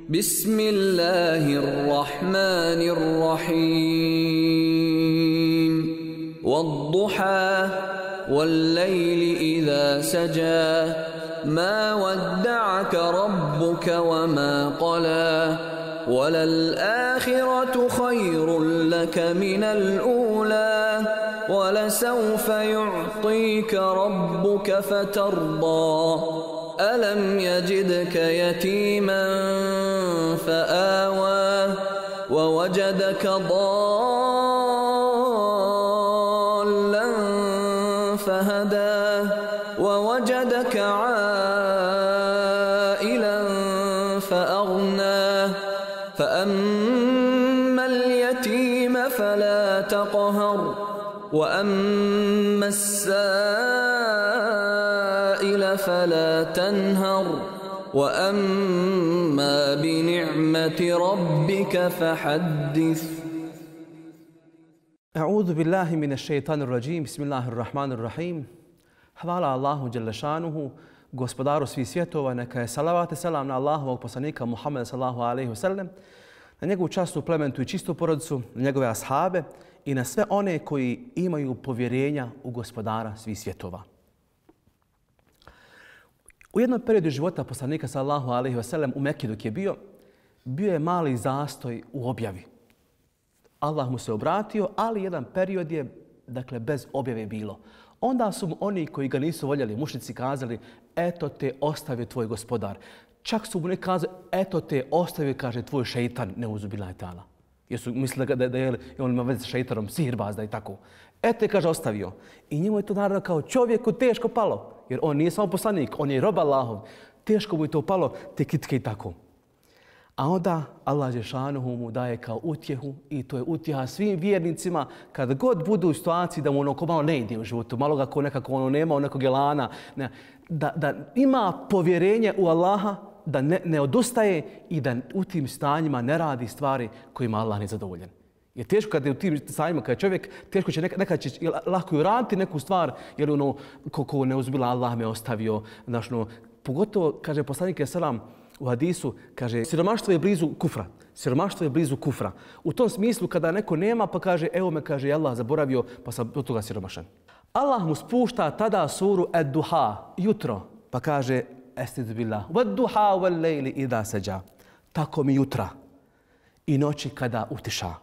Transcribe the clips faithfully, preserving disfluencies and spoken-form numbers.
Bismillahirrahmanirrahim. Wadduha wal-layli idha saja. Ma wadda'aka rabbuka wa ma qala. وَلَلْآخِرَةُ خَيْرٌ لَكَ مِنَ الْأُولَى وَلَسَوْفَ يُعْطِيكَ رَبُّكَ فَتَرْضَى أَلَمْ يَجِدْكَ يَتِيمًا فَآوَى وَوَجَدَكَ ضَالًّا فَهَدَى وَوَجَدَكَ عَائِلًا فَأَغْنَى فأما اليتيم فلا تقهر وأما السائل فلا تنهر وأما بنعمة ربك فحدث. أعوذ بالله من الشيطان الرجيم. بسم الله الرحمن الرحيم. Hvala Allahu dželle šanuhu, gospodaru svih svjetova, neka je salavat i selam na Allahovog poslanika Muhammeda sallallahu alejhi ve sellem, na njegovu časnu, plementu i čistu porodicu, na njegove ashabe i na sve one koji imaju povjerenja u gospodara svih svjetova. U jednom periodu života poslanika sallallahu alejhi ve sellem u Mekki dok je bio, bio je mali zastoj u objavi. Allah mu se obratio, ali jedan period je, dakle, bez objave bilo. Onda su mu oni koji ga nisu voljeli, mušnici, kazali, eto te ostavio tvoj gospodar. Čak su mu neki kazali, eto te ostavio, kaže, tvoj šeitan, neuzubillahi ta'ala. Jer su mislili da, da, da je on ima veze s šeitanom, sihirbazda i tako. Eto je, kaže, ostavio. I njemu je to naravno kao čovjeku teško palo. Jer on nije samo poslanik, on je rob Allahov. Teško mu je to palo, te kitke i tako. A onda Allah džešanuhu mu daje kao utjehu i to je utjeha svim vjernicima kad god budu u situaciji da mu ono ko malo ne ide u životu, malo ga ko nekako ono nema, ono nekog elana, ne, da, da ima povjerenje u Allaha, da ne, ne odustaje i da u tim stanjima ne radi stvari kojima Allah nije zadovoljen. Jer teško kad je u tim stanjima, kad je čovjek, teško će nekad, nekad će lako i uraditi neku stvar, jer ono, ko, ko ne uzbila Allah me ostavio, znaš, no, pogotovo, kaže poslanik selam, u hadisu, kaže, siromaštvo je blizu kufra. Siromaštvo je blizu kufra. U tom smislu, kada neko nema, pa kaže, evo me, kaže, Allah zaboravio, pa sam od toga siromašan. Allah mu spušta tada suru Ad-Duha, jutro, pa kaže, Estaizu billah, Wad-Duha wal-Layli idha saja. Tako mi jutra i noći kada utiša.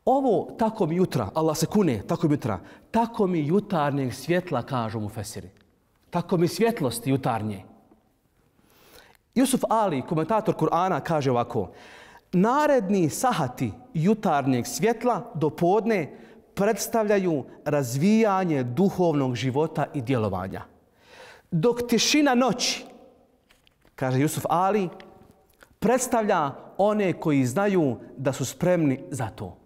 Ovo tako mi jutra, Allah se kune, tako mi jutra, tako mi jutarnjeg svjetla, kažu mu fesiri. Tako mi svjetlosti jutarnje. Jusuf Ali, komentator Kur'ana, kaže ovako: naredni sahati jutarnjeg svjetla do podne predstavljaju razvijanje duhovnog života i djelovanja. Dok tišina noći, kaže Jusuf Ali, predstavlja one koji znaju da su spremni za to.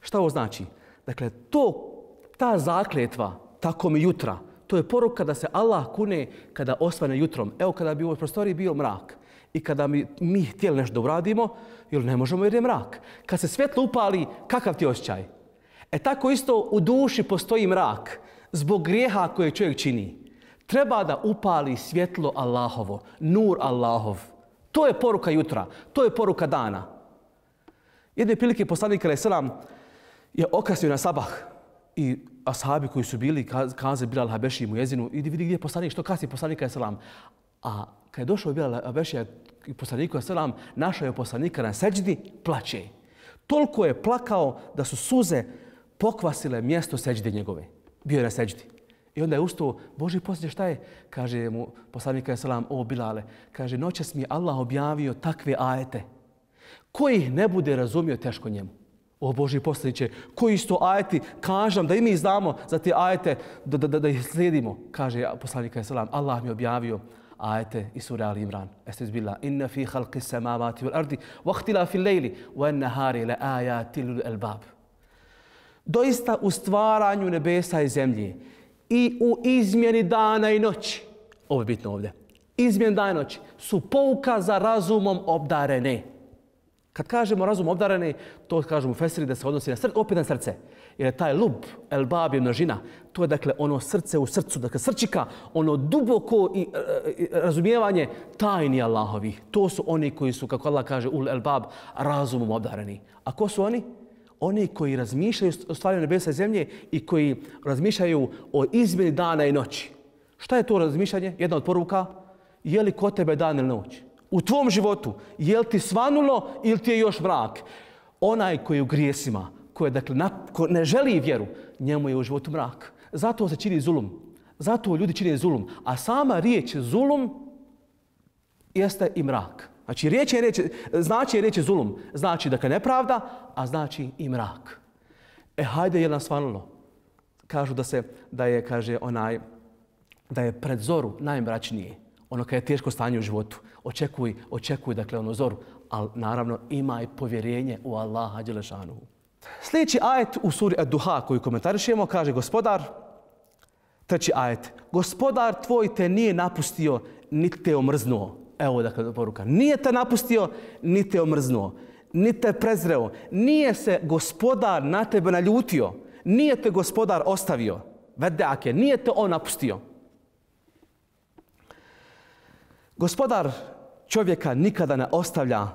Šta ovo znači? Dakle, to, ta zakletva, tako mi jutra, to je poruka da se Allah kune kada osvane jutrom. Evo kada bi u ovoj prostoriji bio mrak i kada mi, mi htjeli nešto da uradimo, jer ne možemo jer je mrak. Kad se svjetlo upali, kakav ti osjećaj? E tako isto u duši postoji mrak zbog grijeha koje čovjek čini. Treba da upali svjetlo Allahovo, nur Allahov. To je poruka jutra, to je poruka dana. Jedne prilike poslanik alejhi selam je okasnio na sabah i ashabi koji su bili kaze Bilal Habeši mu jezinu, idi vidi gdje je poslanik, što kasni poslanika alejhi selam. A kad je došao Bilal Habeši i poslaniku alejhi selam, našao je poslanika na seđdi, plače. Toliko je plakao da su suze pokvasile mjesto seđde njegove. Bio je na seđdi. I onda je ustao, Boži poslije šta je? Kaže mu poslanik alejhi selam, o Bilale, kaže, noćas mi je Allah objavio takve ajete. Ko ih ne bude razumio, teško njemu. O Boži poslaniče, koji isto ajeti, kažem da i mi znamo za te ajete, da, da, da, da ih slijedimo. Kaže poslanik alejhi selam, Allah mi je objavio ajete iz sure Ali Imran. Estaizu billah, inna fi khalqi samawati wal ardi wa ikhtilafi al-layli wan nahari la ayatin lil albab. Doista u stvaranju nebesa i zemlje i u izmjeni dana i noći, ovo je bitno ovdje, izmjeni dana i noći, su pouka za razumom obdarene. Kad kažemo razum obdareni, to kažemo u Fesiri da se odnosi na srce, opet na srce. Jer je taj lub, el bab je množina, to je dakle ono srce u srcu, dakle srčika, ono duboko i, i razumijevanje tajni Allahovi. To su oni koji su, kako Allah kaže, ul el bab, razumom obdareni. A ko su oni? Oni koji razmišljaju o stvari nebesa i zemlje i koji razmišljaju o izmjeni dana i noći. Šta je to razmišljanje? Jedna od poruka, je li kod tebe dan ili noć? U tvom životu, je li ti svanulo ili ti je još mrak? Onaj koji je u grijesima, koji dakle, ko ne želi vjeru, njemu je u životu mrak. Zato se čini zulum. Zato ljudi čine zulum. A sama riječ zulum jeste i mrak. Znači, riječ je riječ, znači je riječ zulum. Znači dakle nepravda, a znači i mrak. E, hajde, je nas svanulo. Kažu da se, da je, kaže, onaj, da je pred zoru najmračnije. Ono kad je teško stanje u životu. Očekuj, očekuj, dakle, ono zoru. Ali, naravno, imaj povjerenje u Allaha dželešanuhu. Sljedeći ajet u suri Ad-Duha koju komentarišemo, kaže gospodar, treći ajet, gospodar tvoj te nije napustio, niti te omrznuo. Evo dakle poruka. Nije te napustio, niti te omrznuo, niti te prezreo. Nije se gospodar na tebe naljutio. Nije te gospodar ostavio. Vedake, nije te on napustio. Gospodar čovjeka nikada ne ostavlja.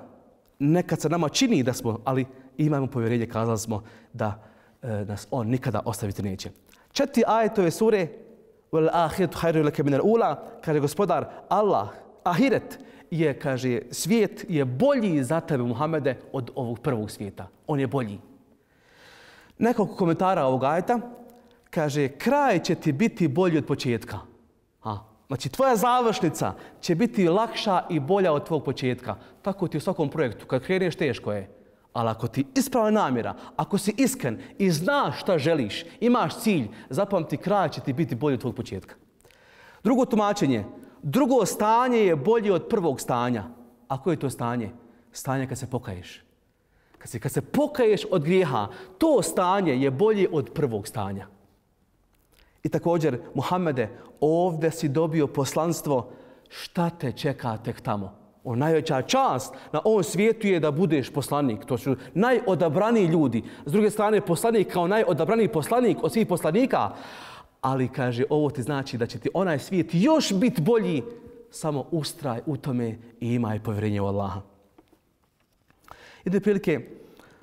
Nekad se nama čini da smo, ali imamo povjerenje, kazali smo da e, nas on nikada ostaviti neće. Četiri ajet ove sure, wal ahiretu khairu laka min al-ula, kaže gospodar Allah, ahiret je, kaže, svijet je bolji za tebe, Muhammede, od ovog prvog svijeta. On je bolji. Nekoliko komentara ovog ajeta, kaže, kraj će ti biti bolji od početka. Ha. Znači, tvoja završnica će biti lakša i bolja od tvog početka. Tako ti u svakom projektu. Kad kreneš, teško je. Ali ako ti ispravna namjera, ako si iskren i znaš šta želiš, imaš cilj, zapamti, kraj će ti biti bolji od tvog početka. Drugo tumačenje. Drugo stanje je bolje od prvog stanja. A koje je to stanje? Stanje kad se pokaješ. Kad se, kad se pokaješ od grijeha, to stanje je bolje od prvog stanja. I također, Muhammede, ovdje si dobio poslanstvo, šta te čeka tek tamo? O, najveća čast na ovom svijetu je da budeš poslanik. To su najodabraniji ljudi. S druge strane, poslanik kao najodabraniji poslanik od svih poslanika. Ali, kaže, ovo ti znači da će ti onaj svijet još biti bolji. Samo ustraj u tome i imaj povjerenje u Allaha. Jedne prilike,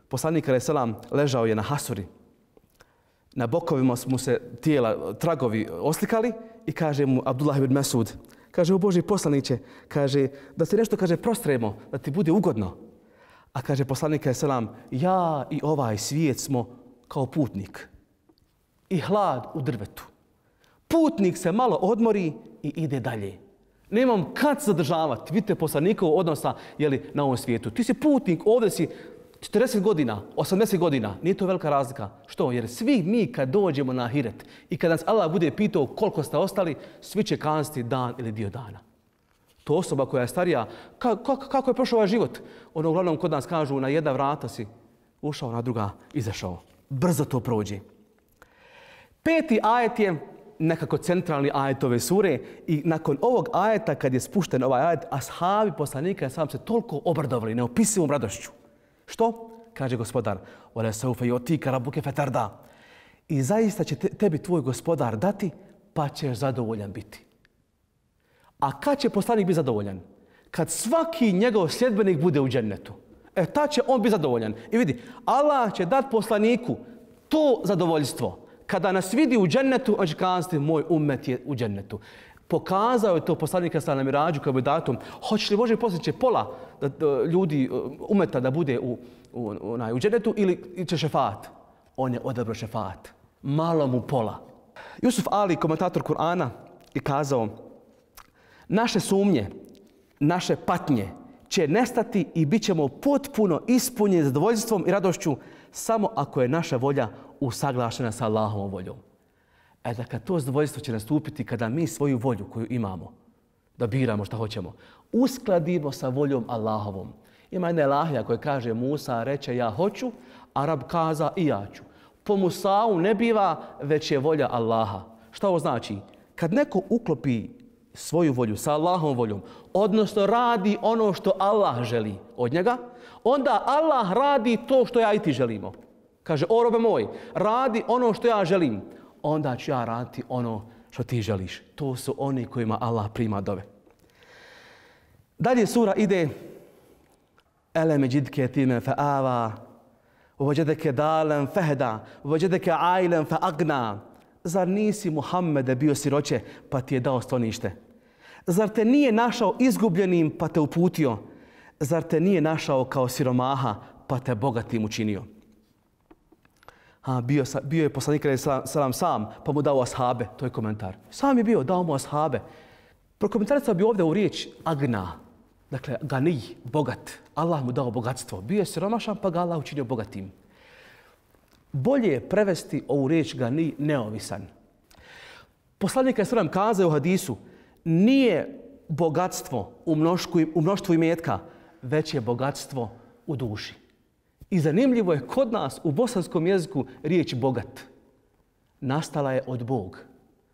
poslanik alejhi selam ležao je na hasuri. Na bokovima mu se tijela, tragovi oslikali i kaže mu Abdullah ibn Mas'ud, kaže, o Božji poslaniće, kaže, da se nešto, kaže, prostremo, da ti bude ugodno. A kaže poslanik alejhi selam, ja i ovaj svijet smo kao putnik i hlad u drvetu. Putnik se malo odmori i ide dalje. Nemam kad zadržavati. Vidite poslanikov odnosa jeli, na ovom svijetu. Ti si putnik, ovdje si četrdeset godina, osamdeset godina. Nije to velika razlika. Što? Jer svi mi kad dođemo na ahiret i kad nas Allah bude pitao koliko ste ostali, svi će kazati dan ili dio dana. To osoba koja je starija, kako, kako je prošao ovaj život? Ono uglavnom kod nas kažu na jedna vrata si ušao, na druga izašao. Brzo to prođe. Peti ajet je nekako centralni ajet ove sure i nakon ovog ajeta, kad je spušten ovaj ajet, ashabi poslanika sam se toliko obradovali neopisivom radošću. Što? Kaže gospodar, وَلَا سَوْفَ يُؤْتِيكَ رَبُّكَ فَتَرْضَى. I zaista će te, tebi tvoj gospodar dati, pa ćeš zadovoljan biti. A kad će poslanik biti zadovoljan? Kad svaki njegov sljedbenik bude u džennetu. E, tad će on biti zadovoljan. I vidi, Allah će dati poslaniku to zadovoljstvo. Kada nas vidi u džennetu, on će kazati, moj ummet je u džennetu. Pokazao je to poslanika sa na mirađu kao bi datum. Hoćeš li Bože poslije će pola da, da, ljudi umeta da bude u, u, u, u džennetu ili će šefat? On je odabrao šefat. Malo mu pola. Jusuf Ali, komentator Kur'ana, je kazao, naše sumnje, naše patnje će nestati i bit ćemo potpuno ispunjeni zadovoljstvom i radošću samo ako je naša volja usaglašena sa Allahovom voljom. E da kad to zadovoljstvo će nastupiti, kada mi svoju volju koju imamo, da biramo šta hoćemo, uskladimo sa voljom Allahovom. Ima jedna elahija koja kaže Musa reče ja hoću, Arab kaza i ja ću. Po Musau ne biva, već je volja Allaha. Šta ovo znači? Kad neko uklopi svoju volju sa Allahovom voljom, odnosno radi ono što Allah želi od njega, onda Allah radi to što ja i ti želimo. Kaže, o robe moj, radi ono što ja želim, onda ću ja raditi ono što ti želiš. To su oni kojima Allah prima dove. Dalje sura ide Elem jeđidke time fa'ava, uvođedeke dalen fehda, uvođedeke ajlen fa'agna. Zar nisi, Muhammede, bio siroće pa ti je dao stonište? Zar te nije našao izgubljenim pa te uputio? Zar te nije našao kao siromaha pa te bogatim učinio? Ha, bio, bio je poslanik salam sam pa mu dao ashabe, to je komentar. Sam je bio, dao mu ashabe. Prokomentarisao bi ovdje u riječ agna, dakle ganij, bogat. Allah mu dao bogatstvo. Bio je siromašan pa ga Allah učinio bogatim. Bolje je prevesti ovu riječ ganij neovisan. Poslanik je sallam kazao u hadisu, nije bogatstvo u mnoštvu, u mnoštvu imetka, već je bogatstvo u duši. I zanimljivo je kod nas u bosanskom jeziku riječ bogat. Nastala je od Bog.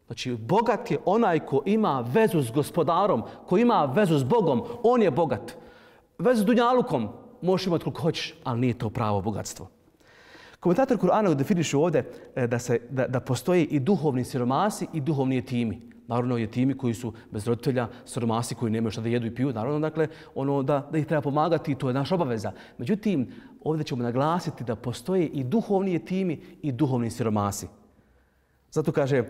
Znači, bogat je onaj ko ima vezu s gospodarom, ko ima vezu s Bogom, on je bogat. Vezu s dunjalukom možeš imati koliko hoćeš, ali nije to pravo bogatstvo. Komentator Kur'ana definišu ovdje da, se, da, da postoje i duhovni siromasi i duhovni jetimi. Naravno, jetimi koji su bez roditelja, siromasi koji nemaju šta da jedu i piju, naravno, dakle, ono da, da ih treba pomagati, to je naša obaveza. Međutim, ovdje ćemo naglasiti da postoje i duhovni jetimi i duhovni siromasi. Zato kaže,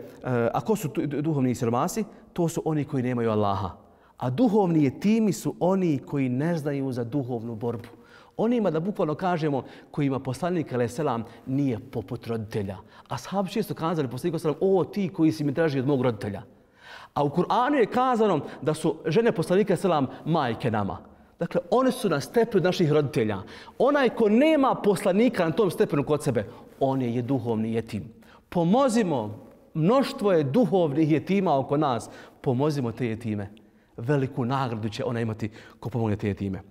ako su duhovni siromasi, to su oni koji nemaju Allaha. A duhovni jetimi su oni koji ne znaju za duhovnu borbu. Onima, da bukvalno kažemo, kojima poslanik alejhi selam nije poput roditelja. A sahabi često kazali poslaniku alejhi selam, o ti koji si mi draži od mog roditelja. A u Kur'anu je kazano da su žene poslanika alejhi selam majke nama. Dakle, one su na stepenu naših roditelja. Onaj ko nema poslanika na tom stepenu kod sebe, on je duhovni jetim. Pomozimo, mnoštvo je duhovnih jetima oko nas, pomozimo te jetime. Veliku nagradu će ona imati ko pomogne te jetime.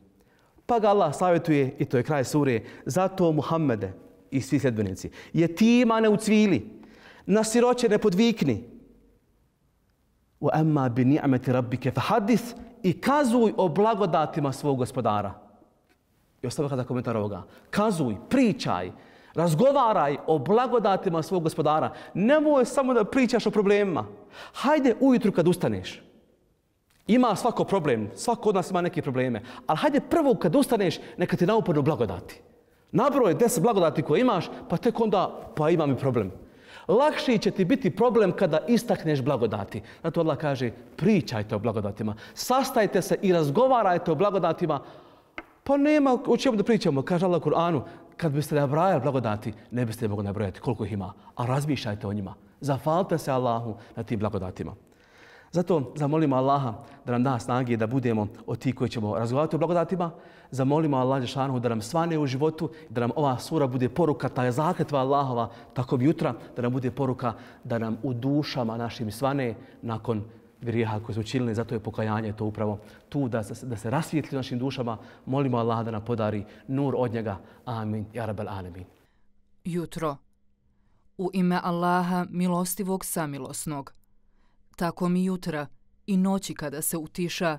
Pa ga Allah savjetuje, i to je kraj sure, zato Muhammede i svi sljedbenici, jetima ne ucvili, na siroće ne podvikni. وَأَمَّا بِنِعْمَةِ رَبِّكَ فَحَدِّثْ i kazuj o blagodatima svog gospodara. I ostavlja kada komentar ovoga. Kazuj, pričaj, razgovaraj o blagodatima svog gospodara. Nemoj samo da pričaš o problemima. Hajde ujutru kad ustaneš. Ima svako problem, svako od nas ima neke probleme. Ali hajde prvo kad ustaneš, neka ti nauporno blagodati. Nabroj deset blagodati koje imaš, pa tek onda, pa imam i problem. Lakši će ti biti problem kada istakneš blagodati. Zato Allah kaže, pričajte o blagodatima. Sastajte se i razgovarajte o blagodatima. Pa nema o čemu da pričamo. Kaže Allah u Kur'anu, kad biste nabrajali blagodati, ne biste mogli nabrojati koliko ih ima. A razmišljajte o njima. Zahvalite se Allahu na tim blagodatima. Zato zamolimo Allaha da nam da snage da budemo od tih koji ćemo razgovarati o blagodatima. Zamolimo Allaha dželešanohu da nam svane u životu, da nam ova sura bude poruka, ta je zakletva Allahova, tako bi jutra, da nam bude poruka da nam u dušama našim svane nakon grijeha koje su učinili. Zato je pokajanje to upravo tu da se, da se rasvijetli našim dušama. Molimo Allaha da nam podari nur od njega. Amin. Ja rabbal alemin. Jutro. U ime Allaha milostivog samilosnog. Tako mi jutra i noći kada se utiša,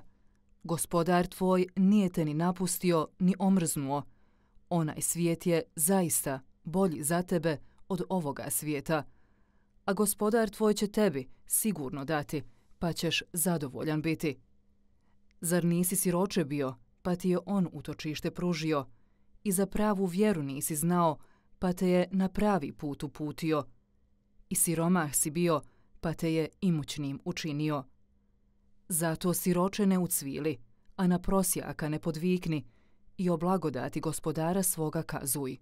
gospodar tvoj nije te ni napustio ni omrznuo. Onaj svijet je zaista bolji za tebe od ovoga svijeta. A gospodar tvoj će tebi sigurno dati, pa ćeš zadovoljan biti. Zar nisi siroče bio, pa ti je on utočište pružio? I za pravu vjeru nisi znao, pa te je na pravi put uputio. I siromah si bio, pa te je imućnim učinio. Zato siroče ne ucvili, a na prosjaka ne podvikni i o blagodati gospodara svoga kazuj.